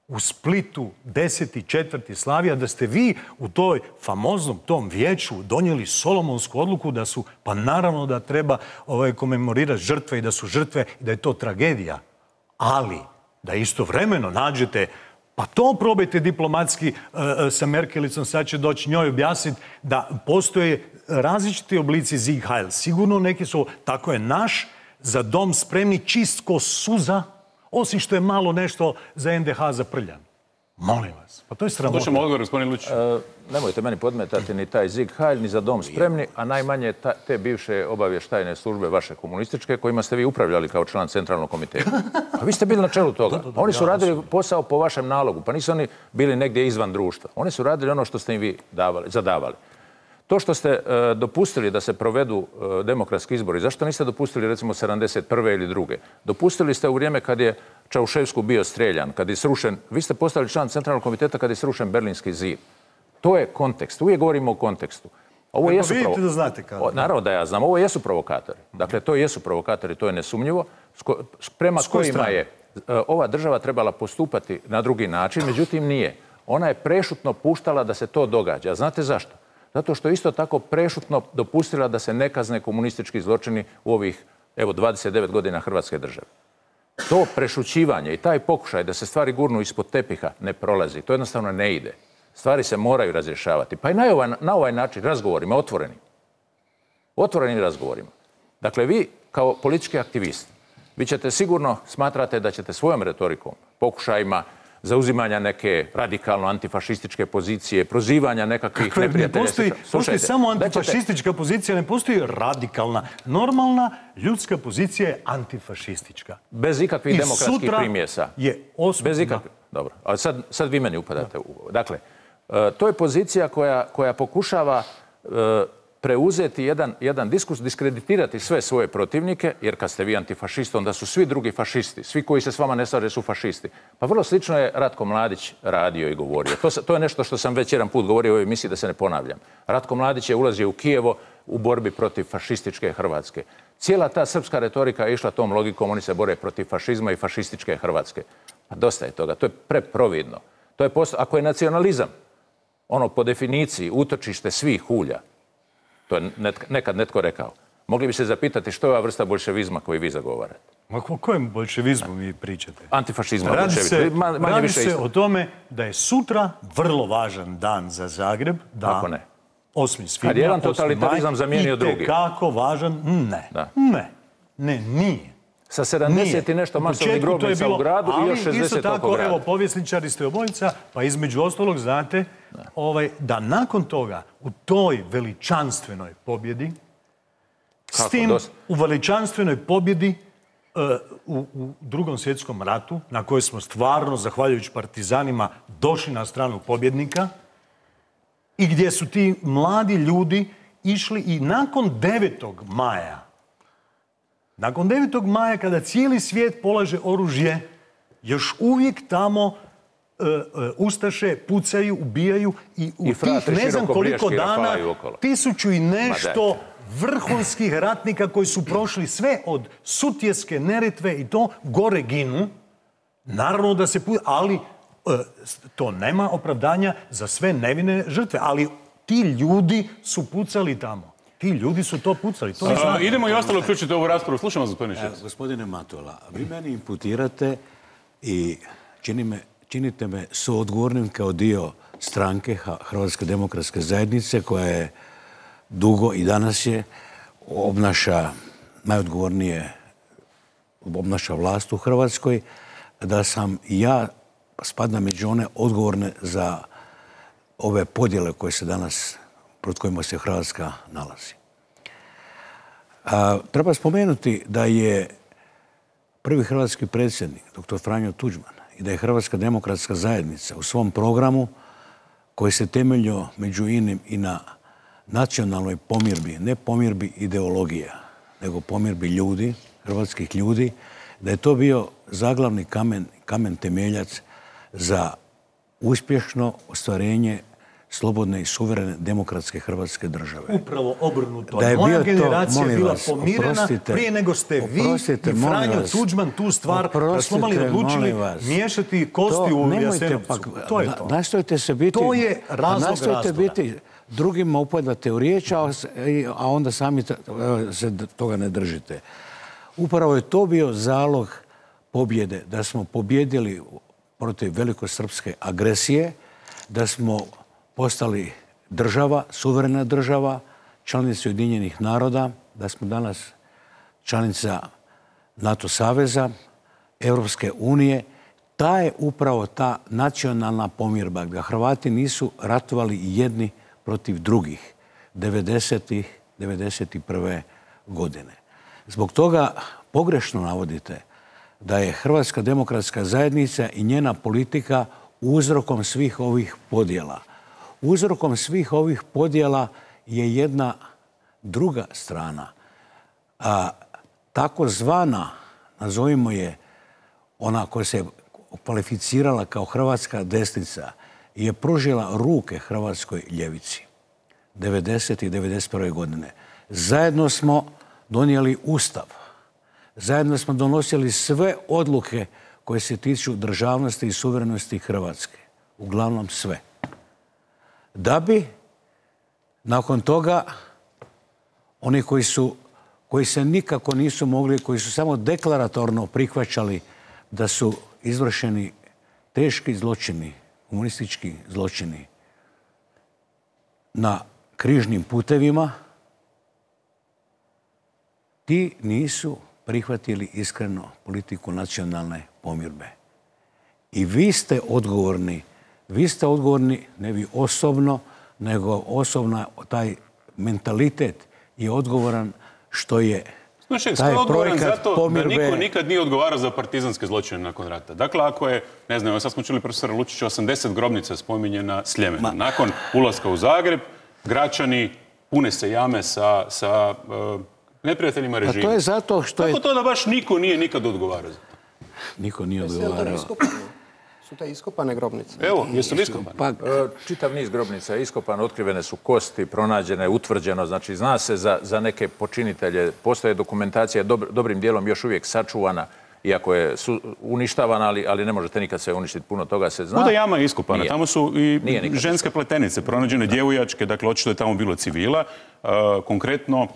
u Splitu deseti četvrti Slavija, da ste vi u toj famoznom tom vijeću donijeli solomonsku odluku da su, pa naravno da treba ovaj, komemorirati žrtve i da su žrtve i da je to tragedija. Ali da istovremeno nađete, pa to probajte diplomatski uh, sa Merkelicom, sad će doći njoj objasniti da postoje različiti oblici Sieg Heil. Sigurno neki su, tako je naš, za dom spremni čist ko suza, osim što je malo nešto za en de ha zaprljan. Molim vas, pa to je sramota. Slušamo odgovor, gospodin Lučić. E, nemojte meni podmetati ni taj Sieg Heil, ni za dom spremni, a najmanje ta, te bivše obavještajne službe vaše komunističke, kojima ste vi upravljali kao član centralnog komiteta. A vi ste bili na čelu toga. Oni su radili posao po vašem nalogu, pa nisu oni bili negdje izvan društva. Oni su radili ono što ste im vi davali, zadavali. To što ste e, dopustili da se provedu e, demokratski izbori, zašto niste dopustili recimo sedamdeset prve ili druge? Dopustili ste u vrijeme kad je Čaušesku bio streljan, kad je srušen, vi ste postali član centralnog komiteta kad je srušen Berlinski zid. To je kontekst, uvijek govorimo o kontekstu. Ovo jesu vidite provo... da znate kako. O, naravno da ja znam, ovo jesu provokatori. Dakle, to jesu provokatori, to je nesumnjivo, Sko... prema S koje kojima strane? je e, ova država trebala postupati na drugi način, međutim nije. Ona je prešutno puštala da se to događa. Znate zašto? Zato što isto tako prešutno dopustila da se ne kazne komunistički zločini u ovih, evo, dvadeset devet godina Hrvatske države. To prešućivanje i taj pokušaj da se stvari gurnu ispod tepiha ne prolazi. To jednostavno ne ide. Stvari se moraju razrješavati. Pa i na ovaj, na ovaj način razgovorima, otvorenim. Otvorenim razgovorima. Dakle, vi kao politički aktivist, vi ćete sigurno smatrate da ćete svojom retorikom, pokušajima zauzimanja neke radikalno antifašističke pozicije, prozivanja nekakvih Kakve, neprijatelja. ne postoji, postoji samo antifašistička pozicija, ne postoji radikalna. Normalna ljudska pozicija je antifašistička. Bez ikakvih I demokratskih sutra primjesa. je osma. Bez ikakvih. Dobro, ali sad, sad vi meni upadate u... Dakle, e, to je pozicija koja, koja pokušava e, preuzeti jedan, jedan diskurs, diskreditirati sve svoje protivnike, jer kad ste vi antifašist, onda su svi drugi fašisti. Svi koji se s vama ne slaže su fašisti. Pa vrlo slično je Ratko Mladić radio i govorio. To, to je nešto što sam već jedan put govorio u ovoj emisiji, da se ne ponavljam. Ratko Mladić je ulazio u Kijevo u borbi protiv fašističke Hrvatske. Cijela ta srpska retorika je išla tom logikom, oni se bore protiv fašizma i fašističke Hrvatske. Pa dosta je toga, to je preprovidno. To je posto... Ako je nacionalizam, ono po definiciji utočište svih hulja, to je nekad netko rekao. Mogli bi se zapitati što je ova vrsta bolševizma koju vi zagovarate. Ma o kojem bolševizmu vi pričate? Antifašizma, Radi se, Ma, manje radi više se isto. o tome da je sutra vrlo važan dan za Zagreb. Da, Kako ne? osmi svibnja, Kad je jedan osmi totalitarizam maj, zamijenio drugi. itekako važan? Ne. Da. Ne. Ne, nije. Sa sedamdeset i Nije. nešto U masovnih početku to je grobnica bilo, u gradu i još ali isto šezdeset oko tako, grada. evo, povjesničari ste obojica, pa između ostalog znate ovaj, da nakon toga u toj veličanstvenoj pobjedi, s Kako, tim dosta? u veličanstvenoj pobjedi uh, u, u drugom svjetskom ratu, na kojoj smo stvarno, zahvaljujući partizanima, došli na stranu pobjednika i gdje su ti mladi ljudi išli i nakon devetog maja, nakon devetog maja, kada cijeli svijet polaže oružje, još uvijek tamo uh, uh, ustaše pucaju, ubijaju i u I tih fratri ne znam koliko širokobriješki dana rafalaju okolo. tisuću i nešto dajte. vrhunskih ratnika koji su prošli sve od Sutjeske, Neretve i to gore ginu. Naravno da se... pu- Ali uh, to nema opravdanja za sve nevine žrtve. Ali ti ljudi su pucali tamo. Ti ljudi su to pucali. To vi znate. Idemo i ostalo uključiti u ovu raspravu. Slušamo vas, gospodine Šec. Gospodine Matola, vi meni imputirate i čini me, činite me suodgovornim kao dio stranke Hrvatske demokratske zajednice koja je dugo i danas je, obnaša najodgovornije, obnaša vlast u Hrvatskoj, da sam ja spadam među one odgovorne za ove podjele koje se danas, pred kojima se Hrvatska nalazi. A, treba spomenuti da je prvi hrvatski predsjednik, doktor Franjo Tuđman, i da je Hrvatska demokratska zajednica u svom programu, koji se temeljio među inim i na nacionalnoj pomirbi, ne pomirbi ideologija, nego pomirbi ljudi, hrvatskih ljudi, da je to bio zaglavni kamen, kamen temeljac za uspješno ostvarenje slobodne i suverene demokratske Hrvatske države. Upravo obrnuto. Da je Moja bio to, generacija molim bila vas, pomirena oprostite, prije nego ste vi oprostite, i molim Franjo vas, Tuđman tu stvar oprostite, raslomali i odlučili molim vas. miješati kosti To u nemojte Jasenovcu. pak- To je na- to. Nastojite se biti... To je razlog nastojite razloga. biti drugima upadate u riječ, a, a onda sami ta- se toga ne držite. Upravo je to bio zalog pobjede, da smo pobjedili protiv velikosrpske agresije, da smo postali država, suverena država, članica Ujedinjenih naroda, da smo danas članica NATO saveza, Europske unije. Ta je upravo ta nacionalna pomirba, da Hrvati nisu ratovali jedni protiv drugih devedesetih, devedeset prve godine. Zbog toga pogrešno navodite da je Hrvatska demokratska zajednica i njena politika uzrokom svih ovih podjela. Uzrokom svih ovih podjela je jedna druga strana. A, takozvana, nazovimo je, ona koja se kvalificirala kao hrvatska desnica, je pružila ruke hrvatskoj ljevici devedeset i devedeset prve godine. Zajedno smo donijeli Ustav. Zajedno smo donosili sve odluke koje se tiču državnosti i suverenosti Hrvatske. Uglavnom sve. Da bi nakon toga oni koji su, koji se nikako nisu mogli, koji su samo deklaratorno prihvaćali da su izvršeni teški zločini, komunistički zločini na križnim putevima, ti nisu prihvatili iskreno politiku nacionalne pomirbe. I vi ste odgovorni, vi ste odgovorni, ne vi osobno, nego osobno taj mentalitet je odgovoran što je Slušaj, taj je odgovoran projekat zato pomirbe... da niko nikad nije odgovarao za partizanske zločine nakon rata. Dakle, ako je, ne znam, sad smo čuli profesora Lučića, osamdeset grobnica spominje na Sljemenu. Nakon ulaska u Zagreb, Gračani pune se jame sa, sa uh, neprijateljima režima. A to je zato što je... Kako to da baš niko nije nikad odgovarao za to? Niko nije odgovarao. Su te iskopane grobnice? Evo, jesu li iskopane? Pa, E, Čitav niz grobnica je iskopan, otkrivene su kosti, pronađene, utvrđeno, znači zna se za, za neke počinitelje, postoje dokumentacija dobr, dobrim dijelom još uvijek sačuvana, iako je su, uništavana, ali, ali ne možete nikad sve uništiti, puno toga se zna. Buda jama je iskopana, Nije. tamo su i Nije nikad ženske pletenice, pronađene djevojačke, dakle očito je tamo bilo civila, uh, konkretno uh,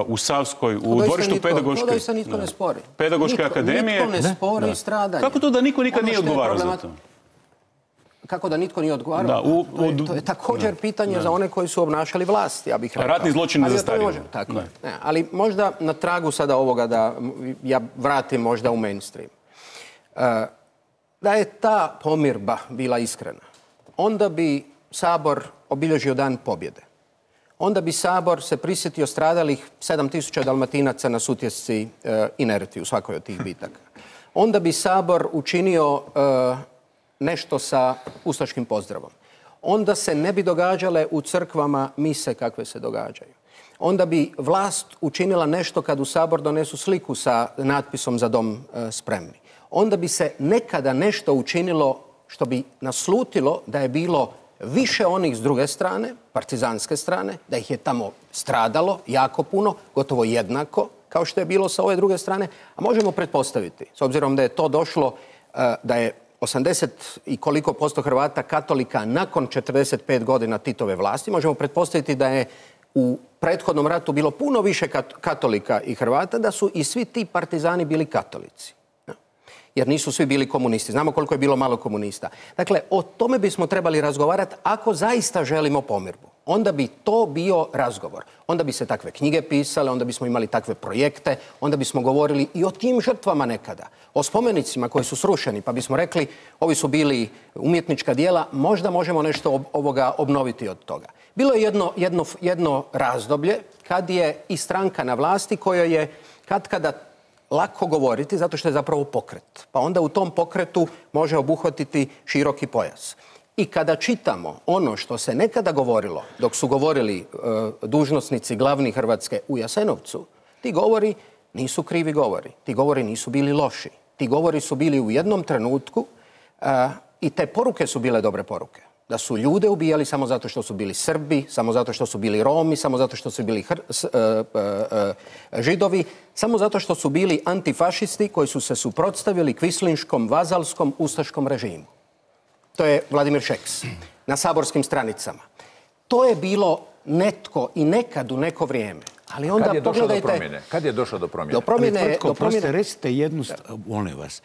u Savskoj, u dvorištu pedagoške... To da se nitko ne spori. Pedagoške Nitko- akademije. Nitko ne spori Da. stradanje. Kako to da niko nikad Ono nije što je odgovarao za problemat- to? Kako da nitko nije odgovarao? Da, u- to, je, od- to je također da. pitanje Da. za one koji su obnašali vlast, ja bih rekao. Ratni zločin ne Ali o tome zastarijeva. možemo- Tako Da. je. Ne, ali možda na tragu sada ovoga da m, ja vratim možda u mainstream. E, da je ta pomirba bila iskrena, onda bi Sabor obilježio dan pobjede. Onda bi Sabor se prisjetio stradalih sedam tisuća Dalmatinaca na Sutjesci e, inerti u svakoj od tih bitaka. Onda bi Sabor učinio e, nešto sa ustaškim pozdravom. Onda se ne bi događale u crkvama mise kakve se događaju. Onda bi vlast učinila nešto kad u Sabor donesu sliku sa natpisom Za dom e, spremni. Onda bi se nekada nešto učinilo što bi naslutilo da je bilo više onih s druge strane, partizanske strane, da ih je tamo stradalo jako puno, gotovo jednako kao što je bilo sa ove druge strane, a možemo pretpostaviti, s obzirom da je to došlo, e, da je osamdeset i koliko posto Hrvata katolika nakon četrdeset pet godina Titove vlasti, možemo pretpostaviti da je u prethodnom ratu bilo puno više kat- katolika i Hrvata, da su i svi ti partizani bili katolici. jer nisu svi bili komunisti. Znamo koliko je bilo malo komunista. Dakle, o tome bismo trebali razgovarati ako zaista želimo pomirbu. Onda bi to bio razgovor. Onda bi se takve knjige pisale, onda bismo imali takve projekte, onda bismo govorili i o tim žrtvama nekada. O spomenicima koji su srušeni, pa bismo rekli ovi su bili umjetnička djela, možda možemo nešto ob ovoga obnoviti od toga. Bilo je jedno, jedno, jedno razdoblje kad je i stranka na vlasti koja je kad kada lako govoriti zato što je zapravo pokret. Pa onda u tom pokretu može obuhvatiti široki pojas. I kada čitamo ono što se nekada govorilo, dok su govorili e, dužnosnici glavni Hrvatske u Jasenovcu, ti govori nisu krivi govori. Ti govori nisu bili loši. Ti govori su bili u jednom trenutku e, i te poruke su bile dobre poruke. Da su ljude ubijali samo zato što su bili Srbi, samo zato što su bili Romi, samo zato što su bili hr, s, e, e, e, Židovi, samo zato što su bili antifašisti koji su se suprotstavili kvislinškom, vazalskom, ustaškom režimu. To je Vladimir Šeks na saborskim stranicama. To je bilo netko i nekad u neko vrijeme. Ali onda kad je došlo pogledajte... do promjene? Kad je došlo do promjene? Do promjene... Ali, Tvrtko, do promjene... proste, recite jednu, molim vas,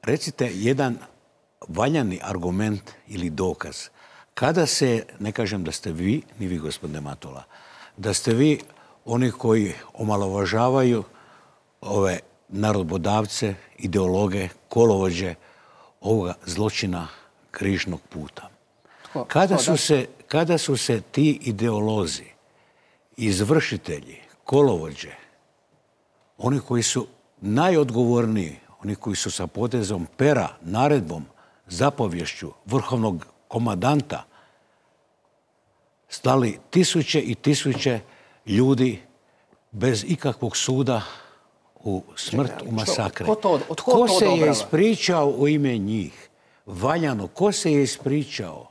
recite jedan valjani argument ili dokaz. Kada se, ne kažem da ste vi, ni vi gospodine Matula, da ste vi oni koji omalovažavaju ove narodbodavce, ideologe, kolovođe ovoga zločina križnog puta. Tko? Kada Tko, su, se, kada su se ti ideolozi, izvršitelji, kolovođe, oni koji su najodgovorniji, oni koji su sa potezom pera, naredbom, zapovješću vrhovnog komandanta stali tisuće i tisuće ljudi bez ikakvog suda u smrt, u masakre. Ko, to, ko, ko to se je odobrava? ispričao u ime njih? Valjano, ko se je ispričao?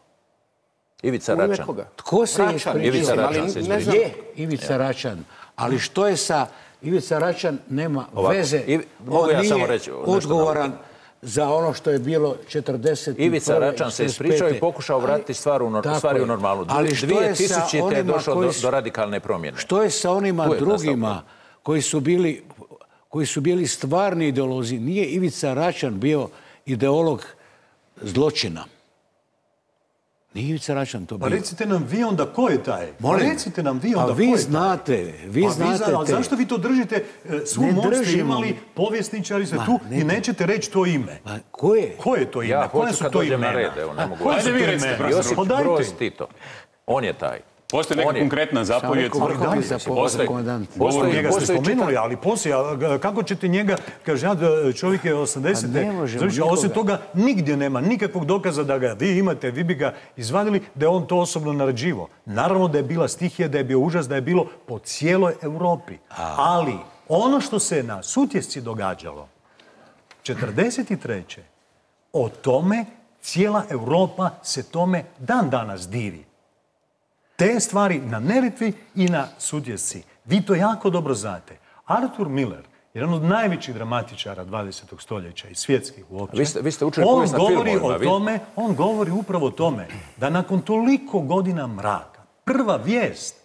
Ivica U ime Račan. koga? Tko se je Račan, ispričao? Ivica Račan ali se ne ispričao. znam. Je, Ivica Račan. Ali što je sa... Ivica Račan nema Ovako, veze. Ivi- mogu On ja nije samo reći nešto odgovoran na za ono što je bilo četrdeset prve. Ivica Račan se ispričao i pokušao vratiti stvar u, nor- Tako stvari u je. normalnu. Ali što je sa dvije tisućite je onima došlo koji do, su- do radikalne promjene. Što je sa onima Tu je nastao drugima koji su bili koji su bili stvarni ideolozi? Nije Ivica Račan bio ideolog zločina. Nije Ivica Račan to bio. Pa recite nam vi onda ko je taj? Molim? Pa recite nam vi onda A vi ko je taj? znate, vi Pa znate zna- ali te- zašto vi to držite? E, Svu Ne moć ste držimo. imali, povjesničari ste Ma, tu ne i dr- nećete reći to ime. Ma, ko je? Ko je to ime? Ja Koja hoću su kad to dođem na imena? red, evo, ne mogu. Koja Ajde su vi to recite, imena? profesor. Josip Pa dajte. Broz Tito. On je taj. Postoji neka On je. konkretna zapovjed. Samo rekao vrhovni Postoji. zapovjednik komandant. Postoji- Njega ste postoji spomenuli, čitav- ali poslije, a g- kako ćete njega, kaže, ja, d- čovjek je osamdesete. Pa ne možemo Znači, a nikoga. osim toga, nigdje nema nikakvog dokaza da ga vi imate, vi bi ga izvadili, da je on to osobno naređivo. Naravno da je bila stihija, da je bio užas, da je bilo po cijeloj Europi. Ali ono što se na Sutjesci događalo, četrdeset treće o tome cijela Europa se tome dan danas divi. Te stvari na Neretvi i na Sutjesci. Vi to jako dobro znate. Arthur Miller, jedan od najvećih dramatičara dvadesetog stoljeća i svjetskih uopće, Vi ste- vi ste učili on povijest na govori filmovima, o vi- tome, on govori upravo o tome da nakon toliko godina mraka, prva vijest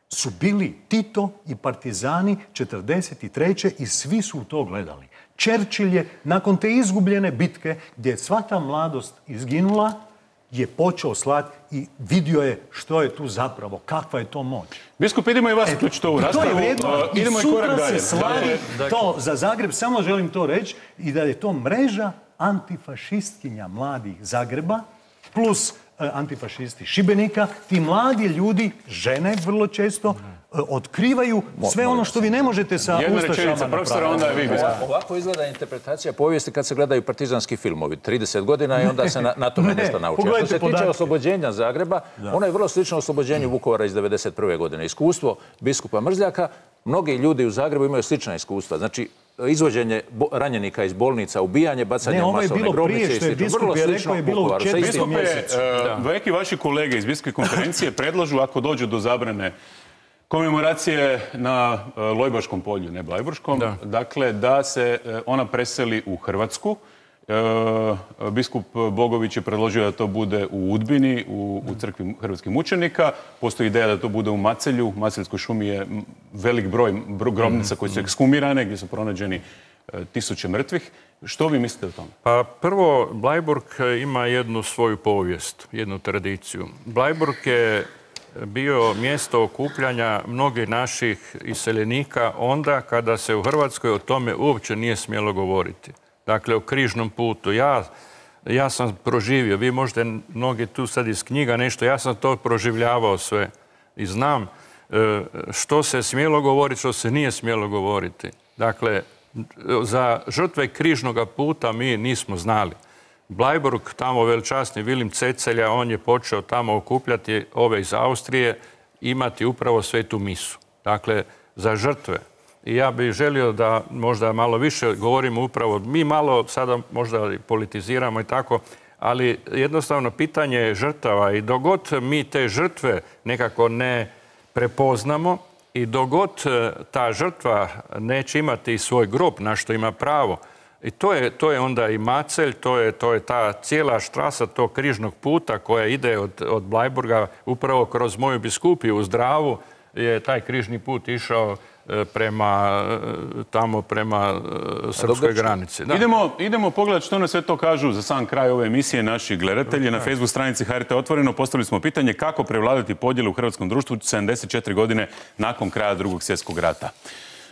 su bili Tito i partizani četrdeset treće i svi su u to gledali. Churchill je nakon te izgubljene bitke gdje je sva ta mladost izginula, je počeo slati i vidio je što je tu zapravo, kakva je to moć. Biskup, idemo i vas uključiti u ovu I to raspravu. je vrijedno. Uh, I idemo i sutra korak dalje. se slavi Dakle, to za Zagreb, samo želim to reći, i da je to mreža antifašistkinja mladih Zagreba plus e, antifašisti Šibenika. Ti mladi ljudi, žene vrlo često, e, otkrivaju sve ono što vi ne možete sa Jedna ustašama rečenica, profesora, onda je vi, biskup. Ovako izgleda interpretacija povijesti kad se gledaju partizanski filmovi. trideset godina i onda se na, na tome Ne, nešto nauči. A što pogledajte se tiče podatke. oslobođenja Zagreba, ono je vrlo slično oslobođenju Vukovara iz devedeset prve godine. Iskustvo biskupa Mrzljaka, mnogi ljudi u Zagrebu imaju slična iskustva. Znači, izvođenje bo- ranjenika iz bolnica, ubijanje, bacanje Ne, u ovo je masovne bilo grobnice prije i što je slično. biskup Vrlo je rekao, slično je bilo u Vukovaru, sa četvrtom istim- Biskupe, mjesecu. uh, neki vaši kolege iz Biskupske konferencije predlažu, ako dođu do zabrane komemoracije na uh, Lojbaškom polju, ne Blajburškom, dakle da se uh, ona preseli u Hrvatsku. Uh, biskup Bogović je predložio da to bude u Udbini, u, u crkvi hrvatskih mučenika. Postoji ideja da to bude u Macelju. U Maceljskoj šumi je m, velik broj bro- grobnica koje su ekshumirane, gdje su pronađeni tisuće mrtvih. Što vi mislite o tome? Pa prvo, Bleiburg ima jednu svoju povijest, jednu tradiciju. Bleiburg je bio mjesto okupljanja mnogih naših iseljenika onda kada se u Hrvatskoj o tome uopće nije smjelo govoriti. Dakle, o križnom putu. Ja, ja sam proživio, vi možete mnogi tu sad iz knjiga nešto, ja sam to proživljavao sve i znam što se smjelo govoriti, što se nije smjelo govoriti. Dakle, za žrtve križnog puta mi nismo znali. Bleiburg, tamo veličasni Vilim Cecelja, on je počeo tamo okupljati ove iz Austrije, imati upravo svetu misu. Dakle, za žrtve. I ja bih želio da možda malo više govorimo upravo, mi malo sada možda politiziramo i tako, ali jednostavno pitanje je žrtava i dogod mi te žrtve nekako ne prepoznamo i dogod ta žrtva neće imati svoj grob na što ima pravo, i to je, to je onda i Macelj, to je, to je ta cijela štrasa tog križnog puta koja ide od, od Bleiburga upravo kroz moju biskupiju u Zdravu je taj križni put išao prema tamo prema srpskoj granici. Da. Idemo, idemo pogledati što nas sve to kažu za sam kraj ove emisije naši gledatelji. Na Facebook stranici H R T Otvoreno postavili smo pitanje kako prevladati podjele u hrvatskom društvu sedamdeset četiri godine nakon kraja Drugog svjetskog rata.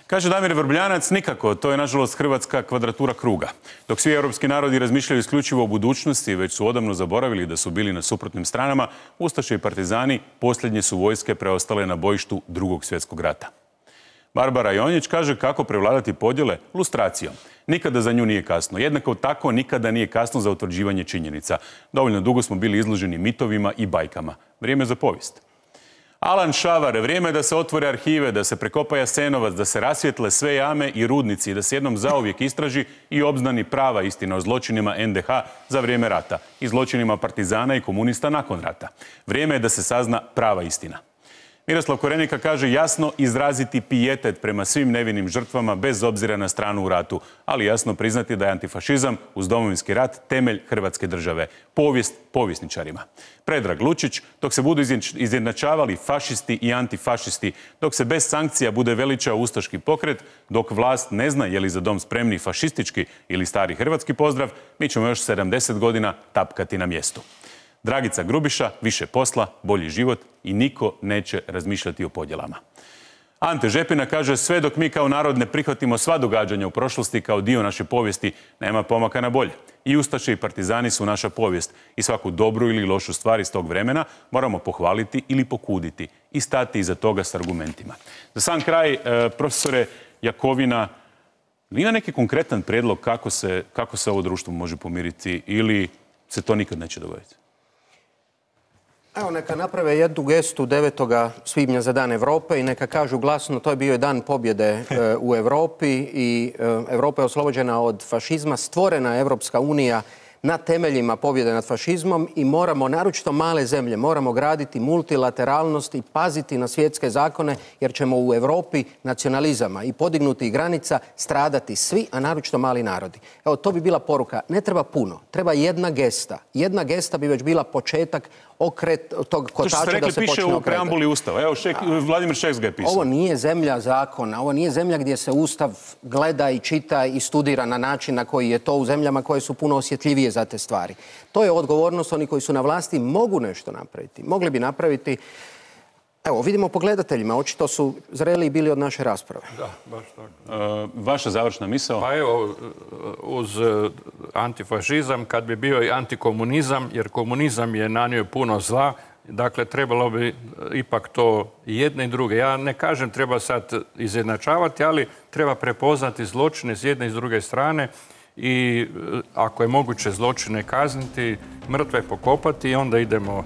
Kaže Damir Vrbljanac, nikako, to je nažalost hrvatska kvadratura kruga. Dok svi europski narodi razmišljaju isključivo o budućnosti, već su odavno zaboravili da su bili na suprotnim stranama, ustaše i partizani posljednje su vojske preostale na bojištu Drugog svjetskog rata. Barbara Jonjić kaže kako prevladati podjele lustracijom. Nikada za nju nije kasno. Jednako tako nikada nije kasno za utvrđivanje činjenica. Dovoljno dugo smo bili izloženi mitovima i bajkama. Vrijeme za povijest. Alan Šavar, vrijeme je da se otvore arhive, da se prekopa Jasenovac, da se rasvijetle sve jame i rudnici, da se jednom zauvijek istraži i obznani prava istina o zločinima N D H za vrijeme rata i zločinima partizana i komunista nakon rata. Vrijeme je da se sazna prava istina. Miroslav Korenika kaže jasno izraziti pijetet prema svim nevinim žrtvama bez obzira na stranu u ratu, ali jasno priznati da je antifašizam uz Domovinski rat temelj Hrvatske države. Povijest povjesničarima. Predrag Lučić, dok se budu izjednačavali fašisti i antifašisti, dok se bez sankcija bude veličao ustaški pokret, dok vlast ne zna je li za dom spremni fašistički ili stari hrvatski pozdrav, mi ćemo još sedamdeset godina tapkati na mjestu. Dragica Grubiša, više posla, bolji život i niko neće razmišljati o podjelama. Ante Žepina kaže sve dok mi kao narod ne prihvatimo sva događanja u prošlosti kao dio naše povijesti, nema pomaka na bolje. I ustaše i partizani su naša povijest i svaku dobru ili lošu stvar iz tog vremena moramo pohvaliti ili pokuditi i stati iza toga s argumentima. Za sam kraj, profesore Jakovina, ima neki konkretan prijedlog kako se, kako se ovo društvo može pomiriti ili se to nikad neće dogoditi? Evo, neka naprave jednu gestu devetog svibnja za Dan Europe i neka kažu glasno to je bio dan pobjede e, u Europi i e, Europa je oslobođena od fašizma, stvorena Europska unija na temeljima pobjede nad fašizmom i moramo, naročito male zemlje, moramo graditi multilateralnost i paziti na svjetske zakone jer ćemo u Europi nacionalizama i podignuti granica stradati svi, a naročito mali narodi. Evo, to bi bila poruka. Ne treba puno, treba jedna gesta. Jedna gesta bi već bila početak okret tog kotača da se počne okretati. To što ste rekli piše u preambuli Ustava. Evo, Šek, Vladimir Šeks ga je pisao. Ovo nije zemlja zakona, ovo nije zemlja gdje se Ustav gleda i čita i studira na način na koji je to u zemljama koje su puno osjetljivije za te stvari. To je odgovornost, oni koji su na vlasti mogu nešto napraviti. Mogli bi napraviti, evo, vidimo po gledateljima, očito su zreli bili od naše rasprave. Da, baš tako. Uh, vaša završna misao? Pa evo, uz antifašizam, kad bi bio i antikomunizam, jer komunizam je nanio puno zla, dakle, trebalo bi ipak to jedne i druge. Ja ne kažem treba sad izjednačavati, ali treba prepoznati zločine s jedne i s druge strane i ako je moguće zločine kazniti, mrtve pokopati i onda idemo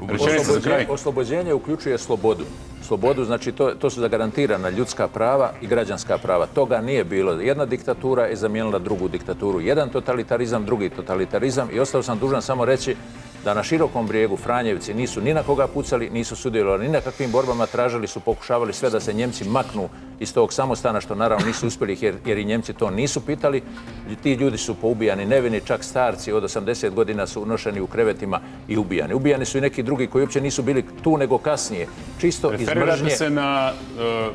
u Oslobođenje, oslobođenje uključuje slobodu. Slobodu, znači to, to su zagarantirana ljudska prava i građanska prava. Toga nije bilo. Jedna diktatura je zamijenila drugu diktaturu. Jedan totalitarizam, drugi totalitarizam i ostao sam dužan samo reći da na Širokom brijegu Franjevci nisu ni na koga pucali, nisu sudjelovali ni na kakvim borbama, tražili su, pokušavali sve da se Njemci maknu iz tog samostana, što naravno nisu uspjeli jer, jer i Njemci to nisu pitali. Ti ljudi su poubijani nevini, čak starci od osamdeset godina su unošeni u krevetima i ubijani. Ubijani su i neki drugi koji uopće nisu bili tu nego kasnije. Čisto iz mržnje. Referirate se na uh,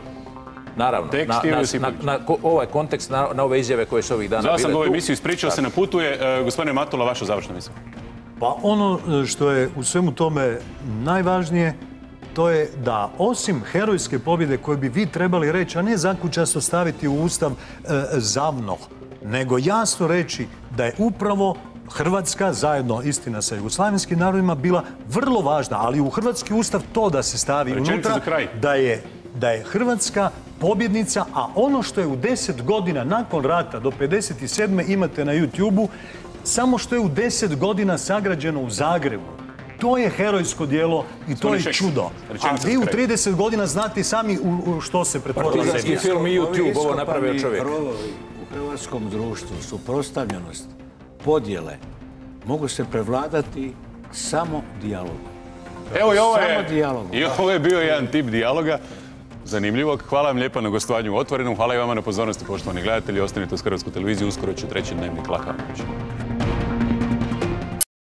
Naravno, Tekst na, Ivo na, Josipović. na, na ko- ovaj kontekst, na, na ove izjave koje su ovih dana Zvao bile sam ga u tu. emisiju, ispričao se na putu je. E, gospodine Matula, vaša završna misla. Pa ono što je u svemu tome najvažnije, to je da osim herojske pobjede koje bi vi trebali reći, a ne zakučasto staviti u Ustav e, zavno, nego jasno reći da je upravo Hrvatska, zajedno istina sa jugoslavenskim narodima, bila vrlo važna, ali u Hrvatski Ustav to da se stavi Rečenica unutra, za kraj. da je, da je Hrvatska pobjednica, a ono što je u deset godina nakon rata do pedeset sedme imate na YouTube-u, samo što je u deset godina sagrađeno u Zagrebu. To je herojsko djelo i to je čudo. A vi u trideset godina znate sami u, u što se pretvorila Partizanski zemlja. film i YouTube, ovo Ovi napravio iskopani čovjek. rovovi u hrvatskom društvu, suprotstavljenost, podjele, mogu se prevladati samo dijalogom. Evo i ovo Samo je, dijalogom. i ovo je bio jedan tip dijaloga. Zanimljivog. Hvala vam lijepa na gostovanju u Otvorenom. Hvala i vama na pozornosti, poštovani gledatelji. Ostanite uz Hrvatsku televiziju. Uskoro će treći dnevnik Laka noć.